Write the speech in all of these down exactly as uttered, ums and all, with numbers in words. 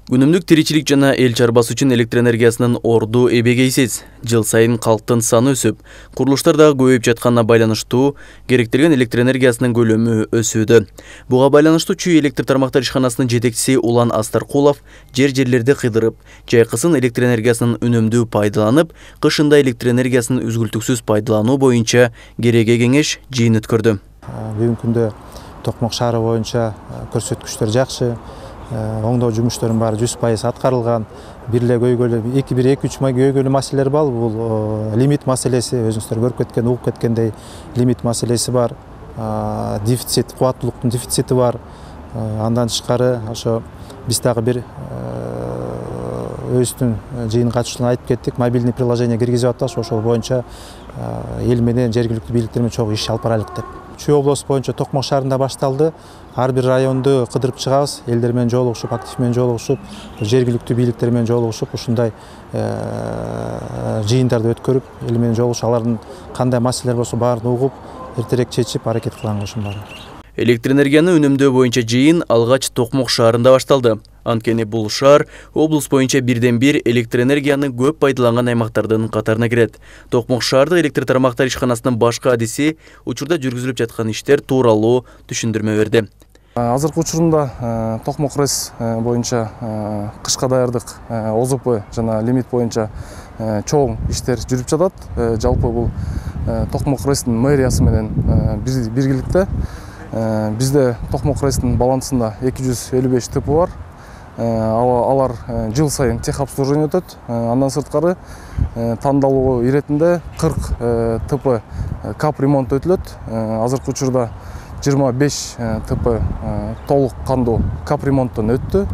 Күнүмдүк тиричилик жана эл чарбасы үчүн электр энергиясынын орду эбегейсиз. Жыл сайын калктын саны өсүп, курулуштар дагы көбөйүп жатканына байланыштуу керектелген электр энергиясынын көлөмү өсүүдө. Буга байланыштуу Чүй электр тармактар ишканасынын жетекчиси Улан Астаркулов жер жерлерди кыйдырып, жайкысын электр энергиясынын үнөмдүү пайдаланып, кышында электр энергиясынын үзгүлтүксүз пайдалануу боюнча кереге кеңеш жыйын өткөрдү. Бүгүнкү күндө Токмок шаары боюнча көрсөткүчтөр жакшы. Оңдоо жумуштарынын баары жүз пайыз аткарылган. Бир эле көйгөлү эки бир эки үч көйгөлүү маселелер бар. Бул лимит маселеси, өзүңүздөр көрүп кеткен, угуп кеткендей лимит маселеси бар. Дефицит, кубаттуулуктун дефицити бар. Андан тышкары ошо биз дагы бир өзүбүздүн жыйын катышуучуларына айтып кеттик, мобильный приложение киргизип атабыз, ошол боюнча эл менен жергиликтүү бийликтер менен чогуу иш алып барайлык деп. Чүй облусу боюнча Токмок шаарында башталды. Ар бир районду кыдырып чыгабыз, элдер менен жолугушуп, актив менен жолугушуп, жергиликтүү бийликтер менен жолугушуп, ушундай жыйындарды өткөрүп, эл менен жолугушуп, алардын кандай маселелер болсо баарын угуп, эртерээк чечип, аракет кылганга ошонун баары. Электр энергияны үнөмдөө боюнча жыйын алгач Токмок шаарында башталды. Анткени бул шаар облус боюнча бирден бир электр энергияны көп пайдаланган аймактардын катарына кирет. Токмок шаардык электр тармактар ишканасынын башкы адиси учурда жүргүзүлүп жаткан иштер тууралуу түшүндүрмө берди. Азыркы учурунда Токмок РЭС боюнча кышка даярдык О З П жана лимит боюнча чоң иштер жүрүп жатат. Жалпы бул Токмок РЭСтин мэриясы менен биргеликте. Бизде Токмок РЭСтин балансында эки жүз элүү беш Т П бар. Алар жыл сайын техобслуживание өтөт. Андан сырткары тандалуу иретинде кырк Т П кап ремонт өтүлөт. Азыркы учурда жыйырма беш Т П толук кандуу кап ремонттон өттү.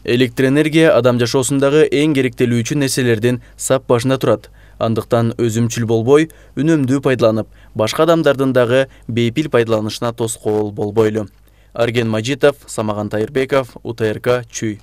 Электр энергия адам жашоосундагы эң керектелүүчү нерселердин сап башында турат. Андыктан өзүмчүл болбой, үнөмдүү пайдаланып, башка адамдардын дагы бейпил пайдаланышына тоскоол болбойлу. Арген Мажитов, Самаган Тайырбеков, У Т Р К, Чүй.